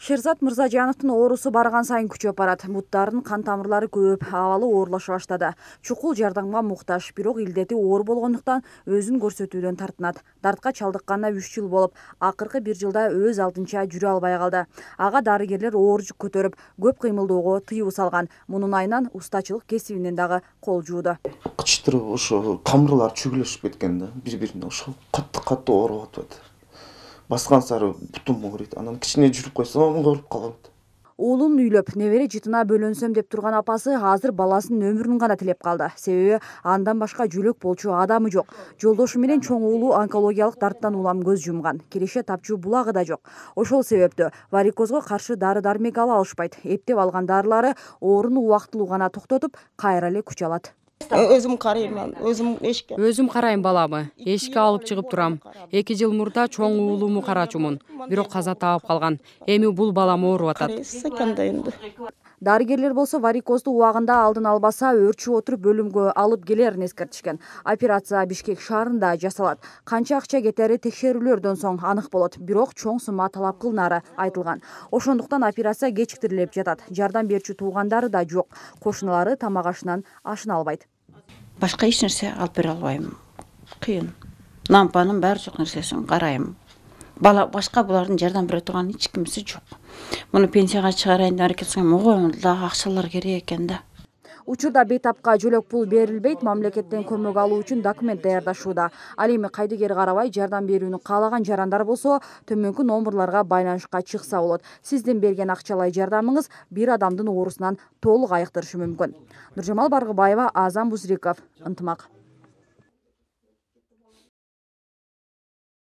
Шерзат Мырзажановдун оорусу барган сайын күчөп барат. Буттарынын кан тамырлары көбөйүп, абалы оорлоша баштады. Чукул жардамга муктаж, бирок илдети оор болгондуктан өзүн көрсөтүүдөн тартынат. Дартка чалдыкканына 3 жыл болуп, акыркы 1 жылда өз алдынча жүрө албай калды. Ага дарыгерлер оор жүк көтөрүп, көп кыймылдөөгө тыюу салган. Мунун айынан устачылык кесибинен дагы кол жууду. Кычтырып ошо тамырлар чүгүлөшүп кеткен да, бири-бирине ошо катты ооруп атат. Баскан сары бутум ооруйт. Анан кичине жүрүп койсом ооруп калам. Уулун үйлөп, небере жытына бөлөнсөм деп турган апасы азыр баласынын өмүрүн гана тилеп калды. Себеби андан башка жөлөк болчу адамы жок. Жолдошу менен чоң уулу онкологиялык дарттан улам көз жумган. Киреше тапчу булагы да жок. Ошол себептүү варикозго каршы дары-дармек ала алышпайт. Эптеп алган дарылары ооруну убактылуу гана токтотуп, кайра эле күч алат. Өзүм карайм, Өзүм карайм баламы. Эшикке алып чыгып турам. 2 жыл мурда чоң уулуму карачумун. Бирок каза таап калган. Эми бул балам ооруп атат. Дарыгерлер болсо варикозду убагында алдын албаса өөрчүп отуруп бөлүмгө алып келерин эскертишкен. Операция Бишкек шаарында жасалат. Канча акча кетери текшерүүлөрдөн соң анык болот. Бирок чоң сумма талап кылынары айтылган. Ошондуктан операция кечиктирилип жатат. Жардам берчү туугандары да жок. Кошуналары тамак ашынан ашына албайт. Башка эч нерсе алып бере албайм. Кыйын. Лампанын баары жок нерсесин карайм. Башка булардын жардам бере турган эч кимиси жок. Муну пенсияга чыгарайын деп аракет кылсам, ого, дагы акчалар керек экен да. Учурда бейтапка жөлөк пул берилбейт, мамлекеттен көмөк алуу үчүн документ даярдашууда. Ал эми кайдыгер карабай жардам берүүнү каалаган жарандар болсо, төмөнкү номерларга байланышка чыкса болот. Сиздин берген акчалай жардамыңыз бир адамдын оорусунан толук айыктырышы мүмкүн. Нуржамал Баргыбаева, Азам Бузриков, Ынтымак.